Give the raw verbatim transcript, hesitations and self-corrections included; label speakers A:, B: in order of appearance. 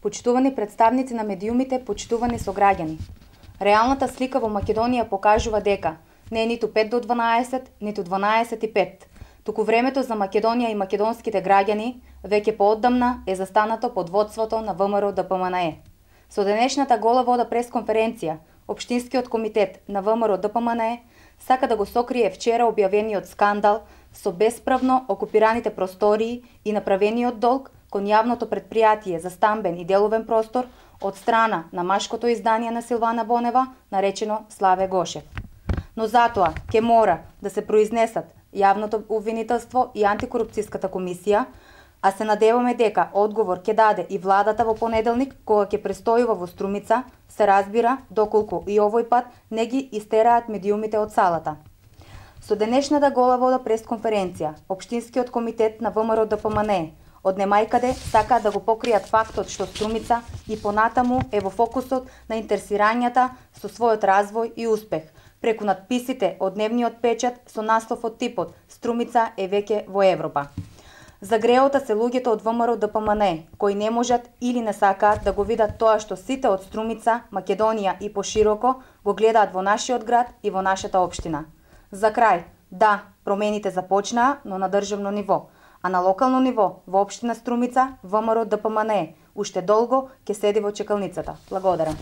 A: Почитувани представници на медиумите, почитувани сограѓани. Реалната слика во Македонија покажува дека не е ниту пет до дванаесет, ниту дванаесет и пет. Туку времето за Македонија и македонските граѓани веќе поодамна е застанато под водството на ВМРО Д П М Н Е. Со денешната гола вода пресконференција, Општинскиот комитет на ВМРО Д П М Н Е сака да го сокрие вчера објавениот скандал со бесправно окупираните простории и направениот долг кон јавното претпријатие за стамбен и деловен простор од страна на машкото издание на Силвана Бонева, наречено Славе Гошев. Но затоа ќе мора да се произнесат јавното обвинителство и антикорупцијската комисија, а се надеваме дека одговор ќе даде и владата во понеделник, кога ќе престојува во Струмица, се разбира доколку и овој пат не ги истераат медиумите од салата. Со денешната гола вода пресконференција, Општинскиот комитет на ВМРО Д П М Н Е од немајкаде сакаат да го покријат фактот што Струмица и понатаму е во фокусот на интересирањата со својот развој и успех, преку надписите од дневниот печат со наслов од типот «Струмица е веќе во Европа». Загреота се луѓето од ВМРО Д П М Н Е, кои не можат или не сакаат да го видат тоа што сите од Струмица, Македонија и пошироко го гледаат во нашиот град и во нашата општина. За крај, да, промените започнаа, но на државно ниво, а на локално ниво, во општина Струмица, ВМРО Д П М Н Е уште долго ќе седи во чекалницата. Благодарам.